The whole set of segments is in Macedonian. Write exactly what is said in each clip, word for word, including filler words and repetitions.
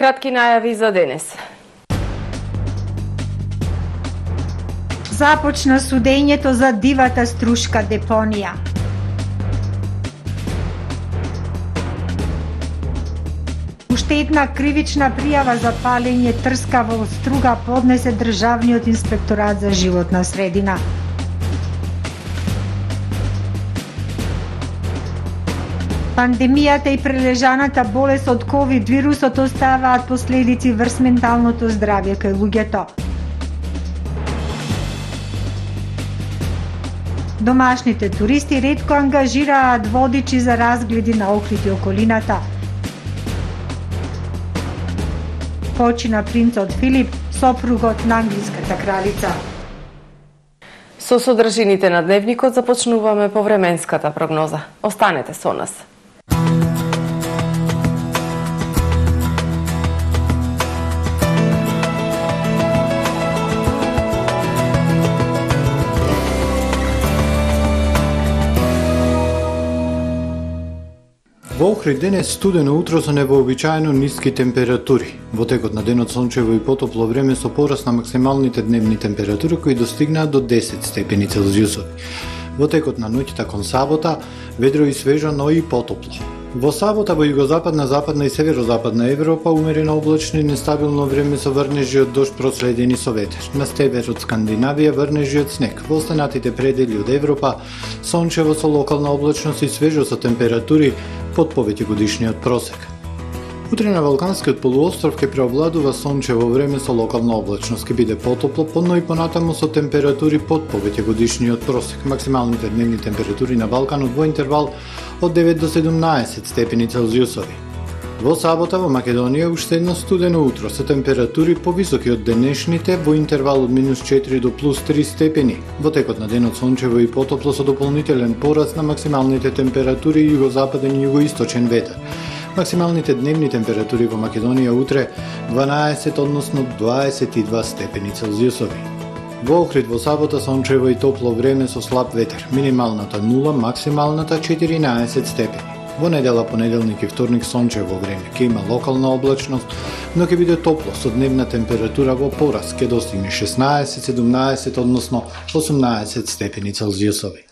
Кратки најави за денес. Започна судењето за дивата струшка депонија. Уште една кривична пријава за палење трска во Струга поднесе Државниот инспекторат за животна средина. Пандемијата и прележаната болест од ковид вирусот оставаат последици врз менталното здравје кај луѓето. Домашните туристи ретко ангажираат водичи за разгледи на Охрид и околината. Почина принцот Филип, сопругот на англиската кралица. Со содржините на дневникот започнуваме по временската прогноза. Останете со нас. Во Охрид денес студено утро со невообичаено ниски температури. Во текот на денот сончево и потопло време со пораст на максималните дневни температури кои достигнаа до десет степени Целзиусови. Во текот на ноќта кон сабота ведро и свежо, но и потопло. Во сабота во југозападна, западна и северозападна Европа умерено облачно и нестабилно време со врнежи од дожд проследени со ветер. На север од Скандинавија врнежи од снег. Во останатите предели од Европа сончево со локална облачност и свежо со температури под повеќе годишниот просек. Утре на Балканскиот полуостров ќе преовладува сончево време со локална облачност, ќе биде потопло, но и понатаму со температури под повеќе годишниот просек. Максималните дневни температури на Балканот во интервал од девет до седумнаесет степени Целзиусови. Во сабота во Македонија уште едно студено утро со температури повисоки од денешните во интервал од минус четири до плюс три степени. Во текот на денот сончево и потопло со дополнителен пораст на максималните температури и југозападен и југоисточен ветер. Максималните дневни температури во Македонија утре дванаесет, односно дваесет и два степени Целзиусови. Во Охрид во сабота сончево и топло време со слаб ветер. Минималната нула, максималната четиринаесет степени. Во недела, понеделник и вторник сончево време. Ќе има локална облачност, но ќе биде топло со дневна температура во пораст. Ќе достигне шеснаесет, седумнаесет, односно осумнаесет степени Целзиусови.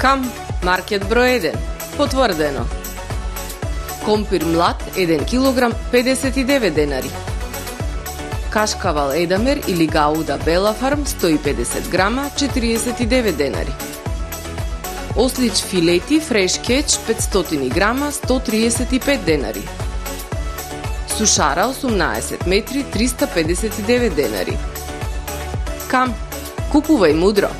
Кам, маркет број еден, потврдено. Компир млад еден килограм педесет и девет денари. Кашкавал Едамер или Гауда Бела Фарм сто и педесет грама четириесет и девет денари. Ослич филети фреш кетч петстотини грама сто триесет и пет денари. Сушара осумнаесет метри триста педесет и девет денари. Кам, купувај мудро.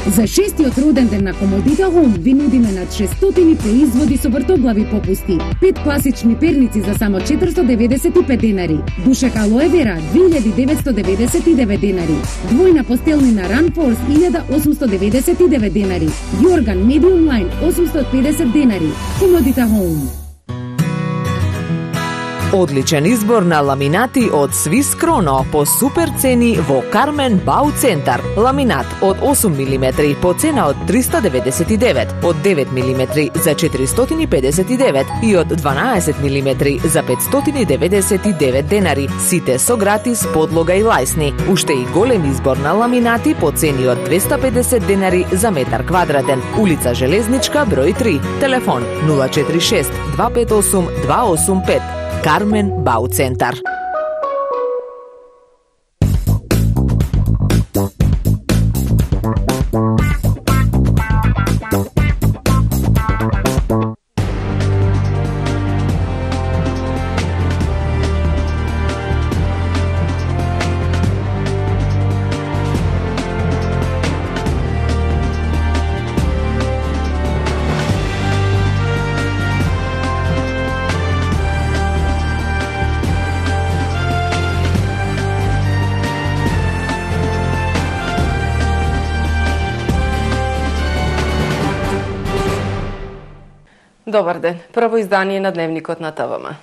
За шестиот роден ден на Комодита Хом ви нудиме над шестстотини производи со вртоглави попусти. Пет класични перници за само четиристо деветдесет и пет денари. Душек алоe вера две илјади деветсто деветдесет и девет денари. Двојна постелнина Runforce илјада осумсто деветдесет и девет денари. Јорган Medium Line осумсто и педесет денари. Комодита Хом. Одличен избор на ламинати од Swiss Krono по супер цени во Кармен Бау Центар. Ламинат од осум милиметри по цена од триста деветдесет и девет, од девет милиметри за четиристотини и педесет и девет и од дванаесет милиметри за петстотини деветдесет и девет денари. Сите со гратис подлога и лајсни. Уште и голем избор на ламинати по цени од двеста педесет денари за метар квадратен. Улица Железничка број три. Телефон нула четири шест два пет осум два осум пет. Кармен Бау Центар. Добар ден. Прво издание на Дневникот на ТВМ.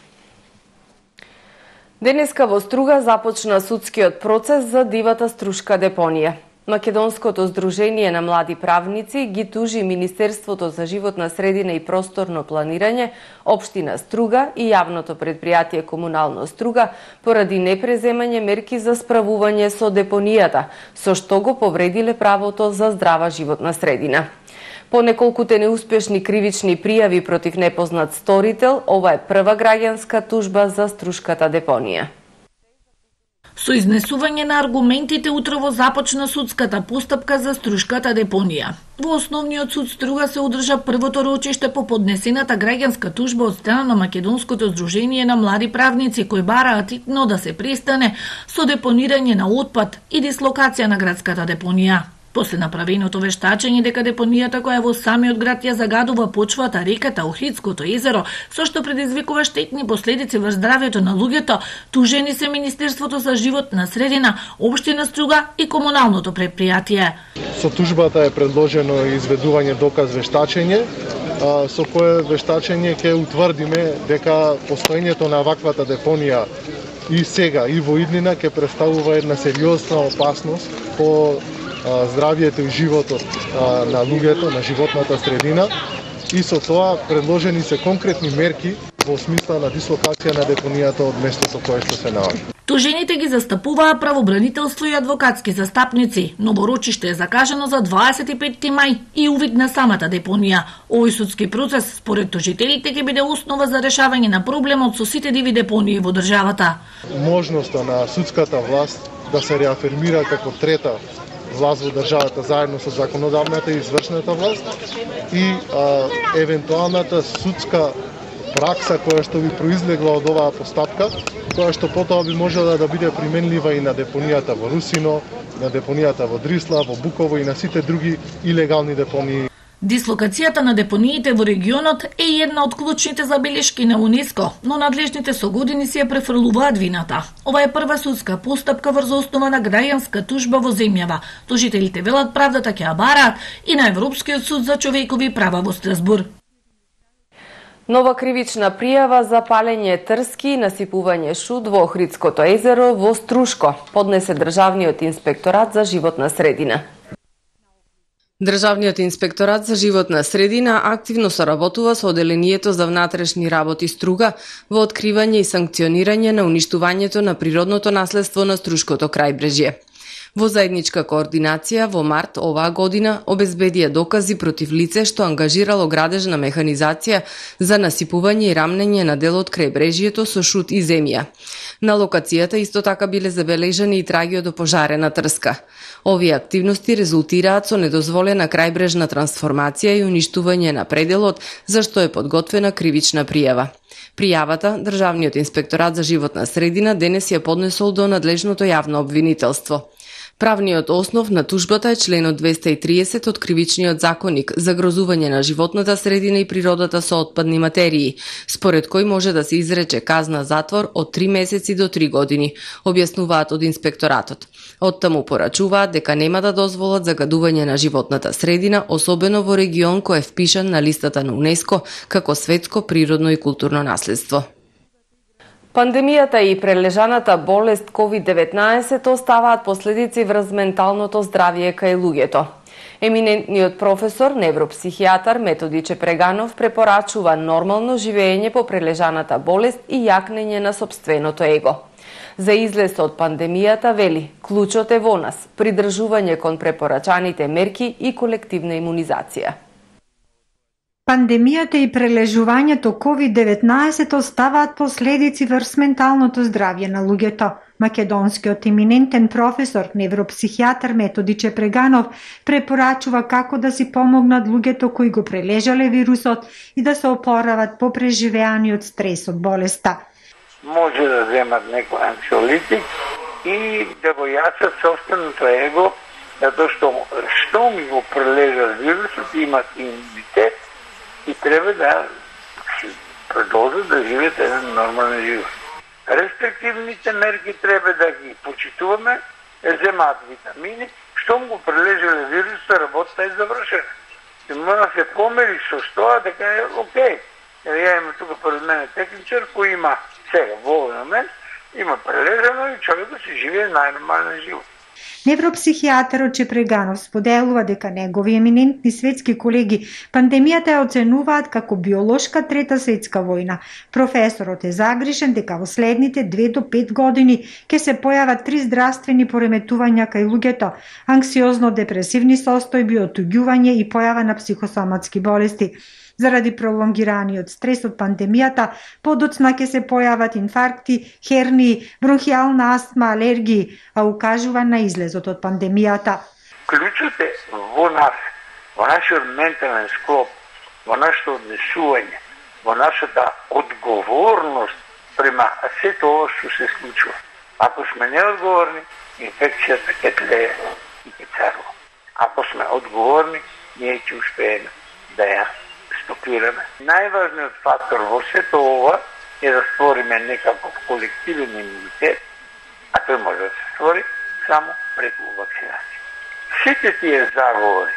Денеска во Струга започна судскиот процес за дивата струшка депонија. Македонското здружение на млади правници ги тужи Министерството за животна средина и просторно планирање, општина Струга и јавното предпријатие Комунално Струга поради непреземање мерки за справување со депонијата, со што го повредиле правото за здрава животна средина. По неколкуте неуспешни кривични пријави против непознат сторител, ова е прва граѓанска тужба за струшката депонија. Со изнесување на аргументите утрово започна судската постапка за струшката депонија. Во Основниот суд Струга се одржа првото рочиште по поднесената граѓанска тужба од страна на Македонското здружение на млади правници кои бараат итно да се престане со депонирање на отпад и дислокација на градската депонија. После направеното вештачење дека депонијата која во самиот град ја загадува почвата, реката, Охридското езеро, со што предизвикува штетни последици врз здравјето на луѓето, тужени се Министерството за животна средина, општина Струга и комуналното предпријатие. Со тужбата е предложено изведување доказ вештачење, со кое вештачење ќе утврдиме дека постоењето на ваквата депонија и сега и во иднина ќе представува една сериозна опасност по здравјето и животот на луѓето, на животната средина, и со тоа предложени се конкретни мерки во смисла на дислокација на депонијата од местото кое што се наоѓа. Тужените ги застапуваа правобранителство и адвокатски застапници. Ново рочиште е закажано за дваесет и петти мај и увид на самата депонија. Овој судски процес, според тужителите, ќе биде основа за решавање на проблемот со сите диви депонии во државата. Можноста на судската власт да се реафирмира како трета власт во државата заедно со законодавната и извршната власт и а, евентуалната судска пракса која што би произлегла од оваа постапка, која што потоа би можела да биде применлива и на депонијата во Русино, на депонијата во Дрисла, во Буково и на сите други илегални депонии. Дислокацијата на депониите во регионот е една од клучните забелешки на УНЕСКО, но надлежните со години си ја префрлуваат вината. Ова е прва судска постапка врз основа на граѓанска тужба во земјава. Тужителите велат правдата ќе ја бараат и на Европскиот суд за човекови права во Страсбург. Нова кривична пријава за палење трски и насипување шут во Охридското езеро во Струшко поднесе Државниот инспекторат за животна средина. Државниот инспекторат за животна средина активно соработува со Оделението за внатрешни работи Струга во откривање и санкционирање на уништувањето на природното наследство на Струшкото крајбрежје. Во заедничка координација во март оваа година обезбедија докази против лице што ангажирало градежна механизација за насипување и рамнење на дел од крајбрежјето со шут и земја. На локацијата исто така биле забележани и траги од опожарена трска. Овие активности резултираат со недозволена крајбрежна трансформација и уништување на пределот, за што е подготвена кривична пријава. Пријавата Државниот инспекторат за животна средина денес ја поднесол до надлежното јавно обвинителство. Правниот основ на тужбата е членот двеста и триесет од Кривичниот законник за грозување на животната средина и природата со отпадни материи, според кој може да се изрече казна затвор од три месеци до три години, објаснуваат од инспекторатот. Оттаму порачуваат дека нема да дозволат загадување на животната средина, особено во регион кој е впишан на листата на УНЕСКО како светско природно и културно наследство. Пандемијата и прележаната болест ковид деветнаесет оставаат последици врз менталното здравје кај луѓето. Еминентниот професор, невропсихијатар Методи Чепреганов препорачува нормално живење по прележаната болест и јакнење на сопственото его. За излез од пандемијата вели, клучот е во нас, придржување кон препорачаните мерки и колективна имунизација. Пандемијата и прележувањето ковид деветнаесет оставаат последици врз менталното здравје на луѓето. Македонскиот еминентен професор, невропсихијатар Методи Чепреганов препорачува како да си помогнат луѓето кои го прележале вирусот и да се опорават по преживеаниот стрес од болеста. Може да земат некој анксиолитик и да го јачат собственото его, затоа што што ми го прележал вирусот, имат имунитет и треба да продолжат да живеат еден нормален живот. Рестриктивните мерки треба да ги почитуваме, земаат витамини, штом го прележале вирусот, работата е завршена. И мора да се помери со тоа дека е окей. Ја имам тука пред мене техничар кој има сега во овој момент има прележано и човекот си живее најнормален живот. Невропсихијатарот Чепреганов споделува дека негови еминентни светски колеги пандемијата ја оценуваат како биолошка трета светска војна. Професорот е загрижен дека во следните две до пет години ќе се појават три здравствени пореметувања кај луѓето: анксиозно-депресивни состојби, отуѓување и појава на психосоматски болести. Заради пролонгираниот стрес од пандемијата, подоцна ќе се појават инфаркти, хернии, бронхијална астма, алергии, а укажува на излезот од пандемијата. Клучот е во нас, во нашиот ментален склоп, во нашето однесување, во нашата одговорност према сето ова што се случува. Ако сме неодговорни, инфекцијата ќе тлее и ќе царува. Ако сме одговорни, ние ќе успееме да ја стопираме. Најважниот фактор во сето ова е да створиме некаков колективен имунитет, а тој може да се створи само преку вакцинација. Сите тие заговори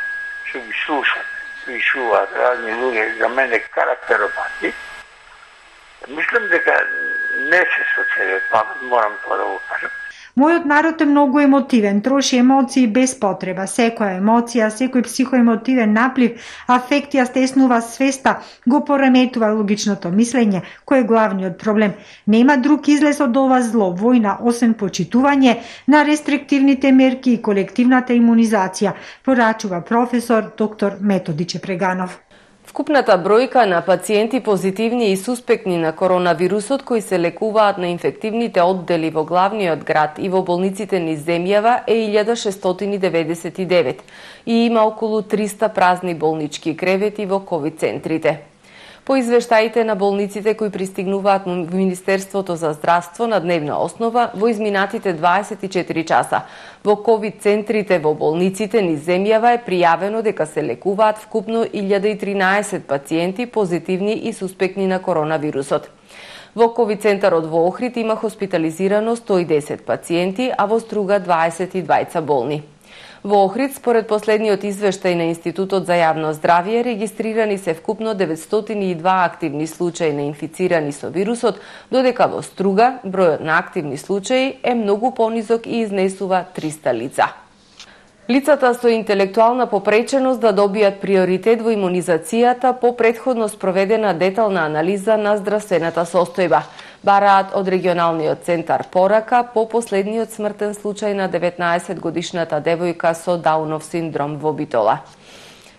што ги слушаме, пишуваат разни луѓе, за мене карактеропати, мислам дека не се со целиот памет, морам тоа да го кажам. Мојот народ е многу емотивен, троши емоции без потреба. Секоја емоција, секој психоемотивен наплив, афект ја стеснува свеста, го пореметува логичното мислење, кој е главниот проблем. Нема друг излез од ова зло, војна, освен почитување на рестриктивните мерки и колективната имунизација, порачува професор доктор Методи Чепреганов. Вкупната бројка на пациенти позитивни и суспектни на коронавирусот кои се лекуваат на инфективните оддели во главниот град и во болниците низ земјава е илјада шестстотини деветдесет и девет и има околу триста празни болнички кревети во ковид центрите. По извештаите на болниците кои пристигнуваат во Министерството за здравство на дневна основа во изминатите дваесет и четири часа, во ковид центрите во болниците низ земјава е пријавено дека се лекуваат вкупно илјада и тринаесет пациенти позитивни и суспектни на коронавирусот. Во ковид центарот во Охрид има хоспитализирано сто и десет пациенти, а во Струга дваесет и двајца болни. Во Охрид, според последниот извештај на Институтот за јавно здравје, регистрирани се вкупно деветстотини и два активни случаи на инфицирани со вирусот, додека во Струга бројот на активни случаи е многу понизок и изнесува триста лица. Лицата со интелектуална попреченост да добијат приоритет во имунизацијата по претходно спроведена детална анализа на здравствената состојба. Бараат од регионалниот центар порака по последниот смртен случај на деветнаесет годишната девојка со Даунов синдром во Битола.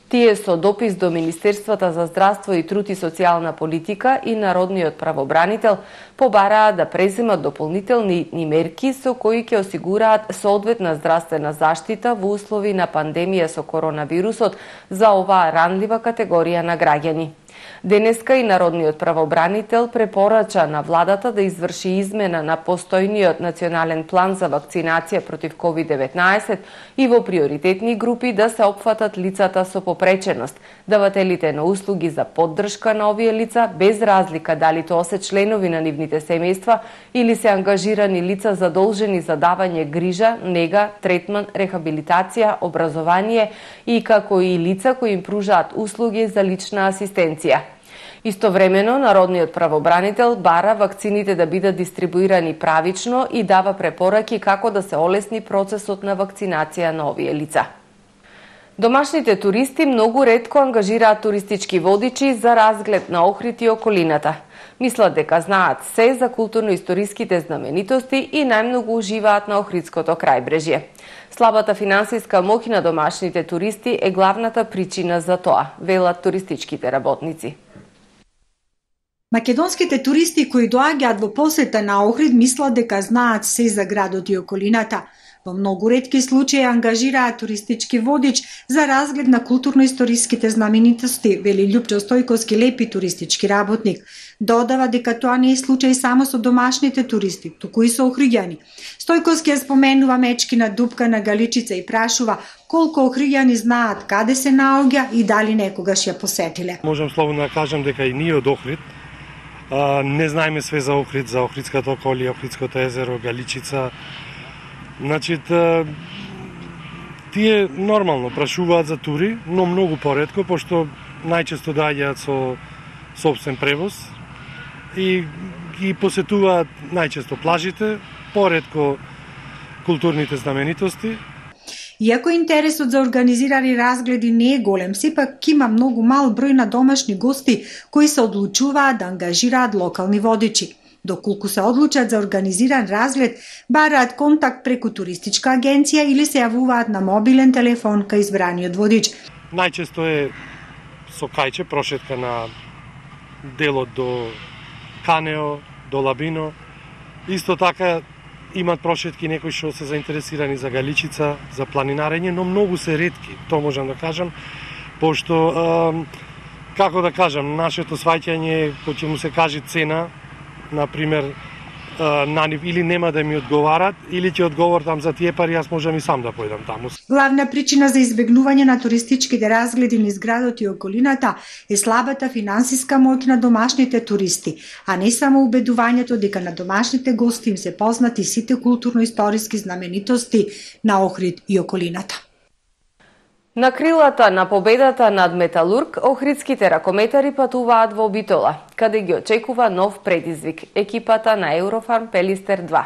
Тие со допис до Министерствата за здравство и труд и социјална политика и Народниот правобранител побараат да преземат дополнителни мерки со кои ќе осигураат соодветна здравствена заштита во услови на пандемија со коронавирусот за оваа ранлива категорија на граѓани. Денеска и Народниот правобранител препорача на владата да изврши измена на постојниот национален план за вакцинација против ковид деветнаесет и во приоритетни групи да се опфатат лицата со попреченост, давателите на услуги за поддршка на овие лица без разлика дали тоа се членови на нивните семејства или се ангажирани лица задолжени за давање грижа, нега, третман, рехабилитација, образование и како и лица кои им пружаат услуги за лична асистенција. Истовремено, Народниот правобранител бара вакцините да бидат дистрибуирани правично и дава препораки како да се олесни процесот на вакцинација на овие лица. Домашните туристи многу ретко ангажираат туристички водичи за разглед на Охрид и околината. Мислат дека знаат се за културно-историските знаменитости и најмногу уживаат на Охридското крајбрежје. Слабата финансиска моќ на домашните туристи е главната причина за тоа, велат туристичките работници. Македонските туристи кои доаѓаат во посета на Охрид мислат дека знаат се за градот и околината. Во многу ретки случаи ангажираат туристички водич за разглед на културно-историските знаменитости, вели Љупчо Стојковски, лепи туристички работник. Додава дека тоа не е случај само со домашните туристи, туку и со охриѓани. Стојковски ја споменува Мечкина дупка на Галичица и прашува колку охриѓани знаат каде се наоѓа и дали некогаш ја посетиле. Можам слободно да кажам дека и ние од Охрид а, не знаеме све за Охрид, за Охридската околија, Охридското езеро, Галичица. Значи, тие нормално прашуваат за тури, но многу поретко, пошто најчесто доаѓаат со сопствен превоз и ги посетуваат најчесто плажите, поретко културните знаменитости. Иако интересот за организирани разгледи не е голем, сепак има многу мал број на домашни гости кои се одлучуваат да ангажираат локални водичи. Доколку се одлучат за организиран разглед, бараат контакт преку туристичка агенција или се јавуваат на мобилен телефон кај избраниот водич. Најчесто е со кајче прошетка на делот до Канео, до Лабино. Исто така имат прошетки некои што се заинтересирани за Галичица, за планинарење, но многу се ретки, тоа можам да кажам, пошто, е, како да кажам, нашето сваќање, кој ќе му се каже цена, например, на нив или нема да ми одговарат, или ќе одговор там за тие пари, јас можам и сам да појдам таму. Главна причина за избегнување на туристичките разгледи низ градот и околината е слабата финансиска моќ на домашните туристи, а не само убедувањето дека на домашните гости им се познати сите културно-историски знаменитости на Охрид и околината. На крилата на победата над Металург, охридските ракометари патуваат во Битола, каде ги очекува нов предизвик – екипата на Еврофарм Пелистер два.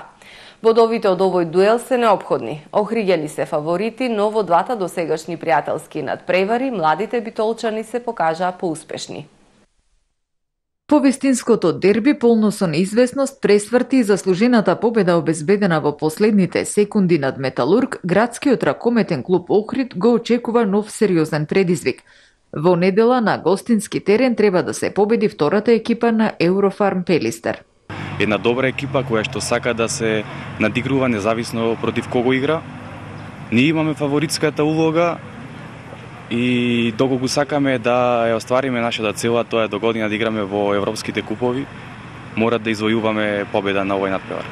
Бодовите од овој дуел се неопходни. Охриѓани се фаворити, но во двата досегашни пријателски надпревари младите битолчани се покажаа поуспешни. По вистинското дерби, полно со неизвестност, пресврти и заслужената победа обезбедена во последните секунди над Металург, градскиот ракометен клуб Охрид го очекува нов сериозен предизвик. Во недела на гостински терен треба да се победи втората екипа на Еврофарм Пелистер. Една добра екипа која што сака да се надигрува независно против кого игра. Ние имаме фаворитската улога, и доколку сакаме да ја оствариме нашата цела, тоа е до година да играме во европските купови, мора да извојуваме победа на овој надпревар.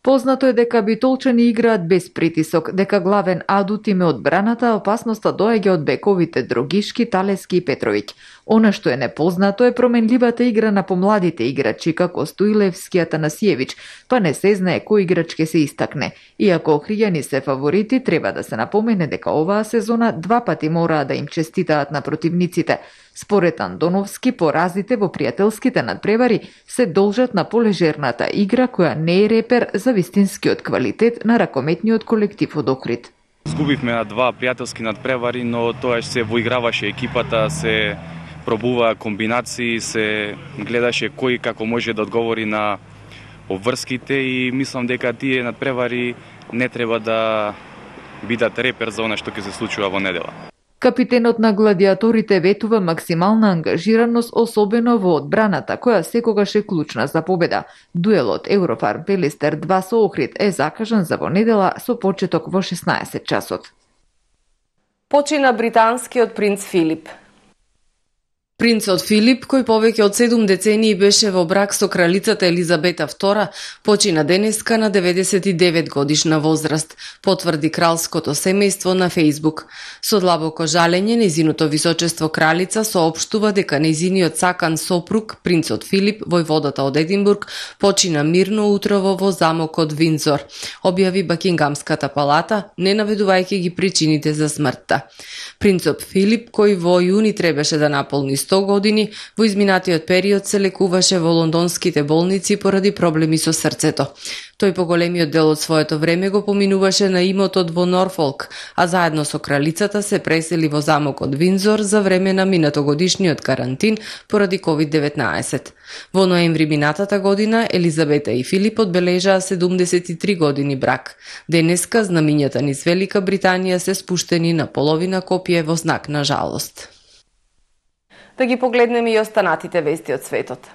Познато е дека битолчани играат без притисок, дека главен адут им е одбраната, опасноста доаѓа од бековите Дрогишки, Талески и Петровиќ. Она што е непознато е променливата игра на помладите играчи како Стоилевски, Атанасиевиќ, па не се знае кој играч ќе се истакне. Иако охриѓани се фаворити, треба да се напомене дека оваа сезона два пати мораа да им честитаат на противниците. Според Андоновски, поразите во пријателските надпревари се должат на полежерната игра која не е репер за вистинскиот квалитет на ракометниот колектив од Охрид. Згубивме на два пријателски надпревари, но тоа се воиграваше екипата, се пробува комбинации, се гледаше кој како може да одговори на обврските и мислам дека тие надпревари не треба да бидат репер за она што ќе се случува во недела. Капитенот на гладиаторите ветува максимална ангажираност, особено во одбраната, која секогаш е клучна за победа. Дуелот Еврофарм Пелистер два со Охрид е закажан за во недела со почеток во шеснаесет часот. Почина британскиот принц Филип. Принцот Филип, кој повеќе од седум децении беше во брак со кралицата Елизабета втора, почина денеска на деветдесет и девет годишна возраст, потврди кралското семејство на Фејсбук. Со длабоко жалење, нејзиното височество кралица соопштува дека нејзиниот сакан сопруг, принцот Филип, војводата од Единбург, почина мирно утрово во замокот Виндзор, објави Бакингамската палата, не наведувајќи ги причините за смртта. Принцот Филип, кој во јуни требаше да наполни сто години, во изминатиот период се лекуваше во лондонските болници поради проблеми со срцето. Тој по големиот дел од своето време го поминуваше на имотот во Норфолк, а заедно со кралицата се пресели во замокот Виндзор за време на минатогодишниот карантин поради ковид деветнаесет. Во ноември минатата година Елизабета и Филип одбележаа седумдесет и три години брак. Денеска знамињата низ Велика Британија се спуштени на половина копие во знак на жалост. Да ги погледнеме и останатите вести од светот.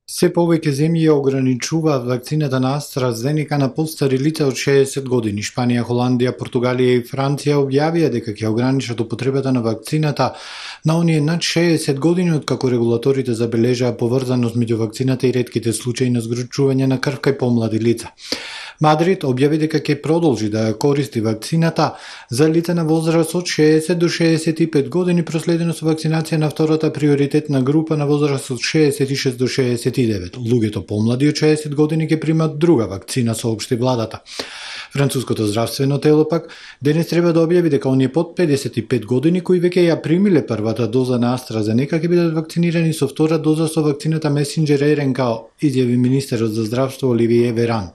Се повеќе земји ограничуваат вакцината на AstraZeneca на постари лица од шеесет години. Шпанија, Холандија, Португалија и Франција објавија дека ќе ограничат употребата на вакцината на оние над шеесет години, откако регулаторите забележаа поврзаност меѓу вакцината и ретките случаи на згрчување на крв кај помлади лица. Мадрид објави дека ќе продолжи да ја користи вакцината за лица на возраст од шеесет до шеесет и пет години, проследено со вакцинација на втората приоритетна група на возраст од шеесет и шест до шеесет и девет. Луѓето помлади од шеесет години ќе примат друга вакцина, соопшти владата. Француското здравствено тело пак денес треба да објави дека оние под педесет и пет години кои веќе ја примиле првата доза на AstraZeneca ќе бидат вакцинирани со втора доза со вакцината Messenger ер ен ка, изјави министерот за здравство Оливие Веран.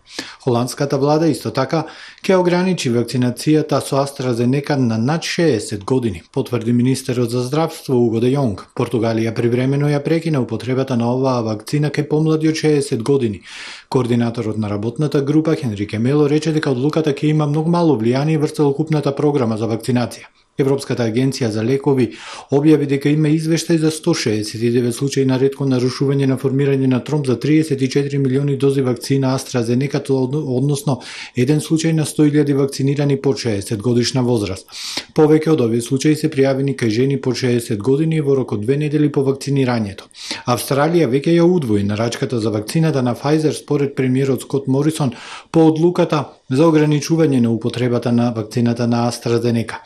Холандската влада исто така ќе ограничи вакцинацијата со AstraZeneca на над шеесет години, потврди министерот за здравство Уго де Јонг. Португалија привремено ја прекина употребата на оваа вакцина кај помлади од шеесет години. Координаторот на работната група Хенрике Мело рече дека одлуката ќе има многу мало влијание врз целокупната програма за вакцинација. Европската агенција за лекови објави дека има извештај за сто шеесет и девет случаи на ретко нарушување на формирање на тромб за триесет и четири милиони дози вакцина AstraZeneca, односно еден случај на сто илјади вакцинирани под шеесет годишна возраст. Повеќе од овие случаи се пријавени кај жени под шеесет години во рок од две недели по вакцинирањето. Австралија веќе ја удвои нарачката за вакцината на Pfizer според премиерот Скот Морисон по одлуката за ограничување на употребата на вакцината на AstraZeneca.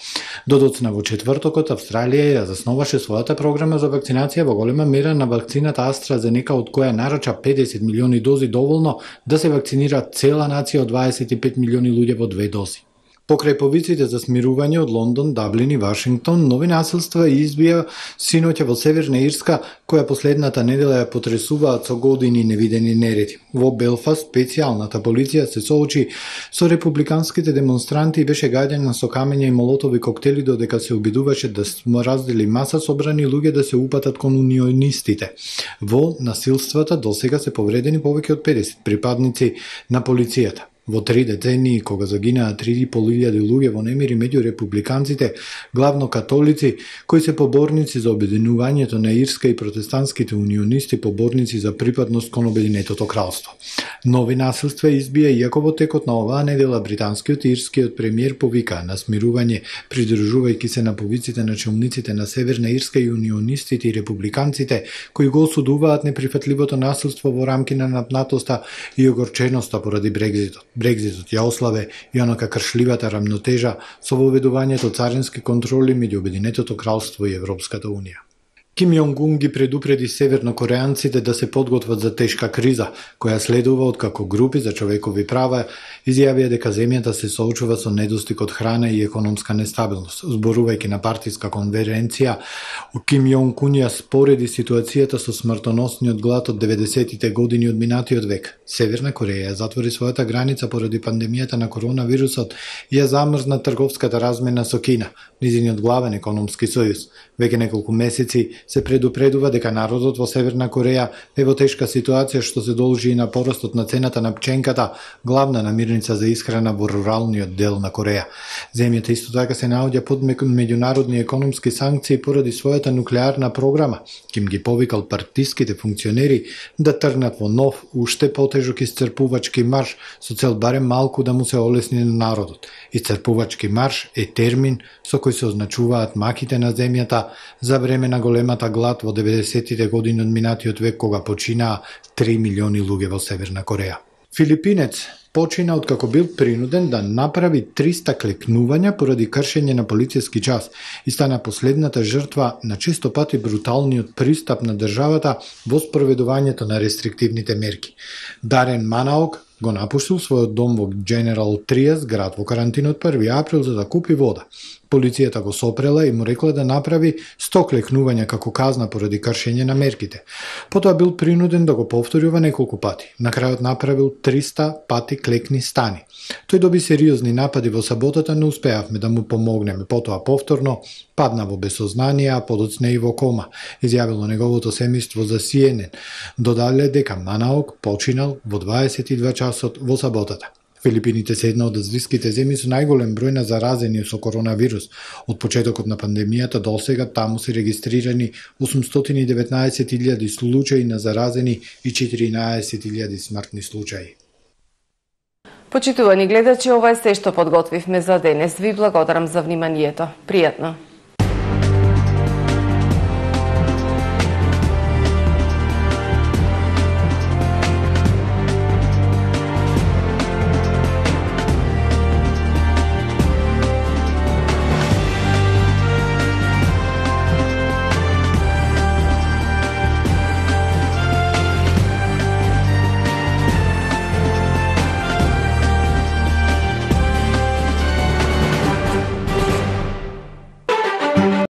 Додоцна во четвртокот Австралија ја засноваше својата програма за вакцинација во голема мера на вакцината AstraZeneca, од која нарача педесет милиони дози доволно да се вакцинира цела нација од дваесет и пет милиони луѓе во две дози. Покрај повиците за смирување од Лондон, Даблин и Вашингтон, нови насилства избија синоќа во Северна Ирска, која последната недела ја потресуваат со години невидени нереди. Во Белфаст, специјалната полиција се соочи со републиканските демонстранти и беше гаѓана со камења и молотови коктели додека се обидуваше да раздели маса собрани луѓе да се упатат кон унионистите. Во насилствата досега се повредени повеќе од педесет припадници на полицијата. Во три децении, кога загинаа три и пол илјади луѓе во немири меѓу републиканците, главно католици, кои се поборници за обединувањето на Ирска и протестантските унионисти поборници за припадност кон Обединетото кралство. Нови насилства избија иако во текот на оваа недела британскиот и ирскиот премиер повикаа на смирување, придржувајќи се на повиците на челниците на Северна Ирска и унионистите и републиканците, кои го осудуваат неприфатливото насилство во рамки на напнатоста и огорченоста поради Брекзитот. Брекзитот ја ославе и онака кршливата рамнотежа со воведувањето царински контроли меѓу Обединетото кралство и Европската унија. Ким Јонг-ун ги предупреди севернокореанците да се подготват за тешка криза, која следува откако групи за човекови права изјавија дека земјата се соочува со недостиг од храна и економска нестабилност. Зборувајќи на партиска конференција, Ким Јонг-ун ја спореди ситуацијата со смртоносниот глад од деветдесетите години од минатиот век. Северна Кореја затвори својата граница поради пандемијата на коронавирусот и ја замрзна трговската размена со Кина, низиниот главен економски сојуз. Веќе неколку месеци се предупредува дека народот во Северна Кореја е во тешка ситуација што се должи и на порастот на цената на пченката, главна намирница за исхрана во руралниот дел на Кореја. Земјата исто така се наоѓа под меѓународни економски санкции поради својата нуклеарна програма. Ким ги повикал партиските функционери да тргнат во нов, уште потежок исцрпувачки марш со цел барем малку да му се олесни на народот. Исцрпувачки марш е термин со кој се означуваат маките на земјата за време на големата глад во деветдесетите години од минатиот век, кога починаа три милиони луѓе во Северна Кореја. Филипинец почина откако бил принуден да направи триста клекнувања поради кршење на полициски час и стана последната жртва на често пати бруталниот пристап на државата во спроведувањето на рестриктивните мерки. Дарен Манаок го напуштил својот дом во Дженерал Триас, град во карантина од први април, за да купи вода. Полицијата го сопрела и му рекла да направи сто клекнувања како казна поради кршење на мерките. Потоа бил принуден да го повтори ова неколку пати. На крајот направил триста пати клекни стани. Тој доби сериозни напади во саботата, не успеавме да му помогнеме. Потоа повторно падна во безсознание, а подоцна и во кома, изјавило неговото семејство за Си Ен Ен. Додале дека Манаок починал во дваесет и два часот во саботата. Филипините се една од азијските земји со најголем број на заразени со коронавирус. Од почетокот на пандемијата до сега таму се регистрирани осумстотини и деветнаесет илјади случаи на заразени и четиринаесет илјади смртни случаи. Почитувани гледачи, ова е се што подготвивме за денес. Ви благодарам за вниманието. Пријатно!